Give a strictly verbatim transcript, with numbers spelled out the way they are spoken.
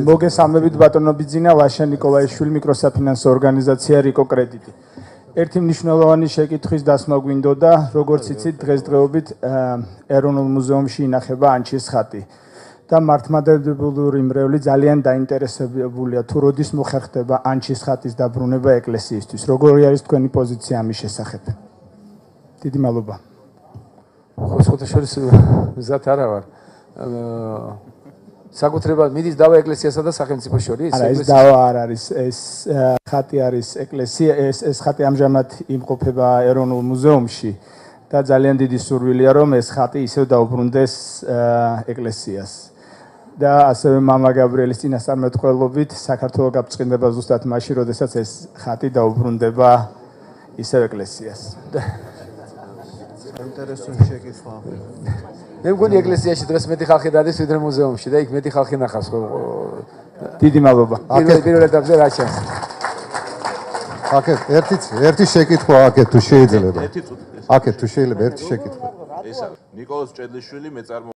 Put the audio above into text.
მოგესალმებით ბატონო ბიძინა, ლაშა ნიკოლაიშვილი, მიკროსაფინანსო ორგანიზაცია რიკო კრედიტი. ერთი მნიშვნელოვანი შეკითხვის დასმა გვინდოდა, როგორც იცით, დღესდღეობით ეროვნულ მუზეუმში ინახება ანჩის ხატი. და მართლმადიდებლური მრევლი ძალიან დაინტერესებულია თუ როდის მოხერხდება ანჩის ხატის დაბრუნება ეკლესიისთვის. როგორი არის თქვენი პოზიცია ამის შესახებ? დიდი მადლობა. ხო, სხვათა შორის მზად არა ვარ. საკუთრებად მიდის დავა ეკლესიასა და სახელმწიფოს შორის? არა, ეს დავა არ არის, ეს ხატი არის ეკლესია, ეს ეს ხატი ამჟამად იმყოფება ეროვნულ მუზეუმში და ძალიან დიდი სურვილია რომ ეს ხატი ისევ დაუბრუნდეს ეკლესიას. და ასევე მამა გაბრიელის წინასწარმეტყველობით საქართველოს გაბწყინდება ზუსტად მაშინ, როდესაც ეს ხატი დაუბრუნდება ისევ ეკლესიას. საინტერესო შეკითხვა. მე მგონი ეკლესიაში დღეს მეტი ხალხი დადის ვიდრე მუზეუმში და იქ მეტი ხალხი ნახავს ხო. დიდი მადლობა. პირველ ეტაპზე რა ჩანს? აკეთ, ერთი ერთი შეკითხვა აკეთ თუ შეიძლება. აკეთ თუ შეიძლება ერთი შეკითხვა. ეს არის ნიკოლოზ ჭედლიშვილი მეწარმო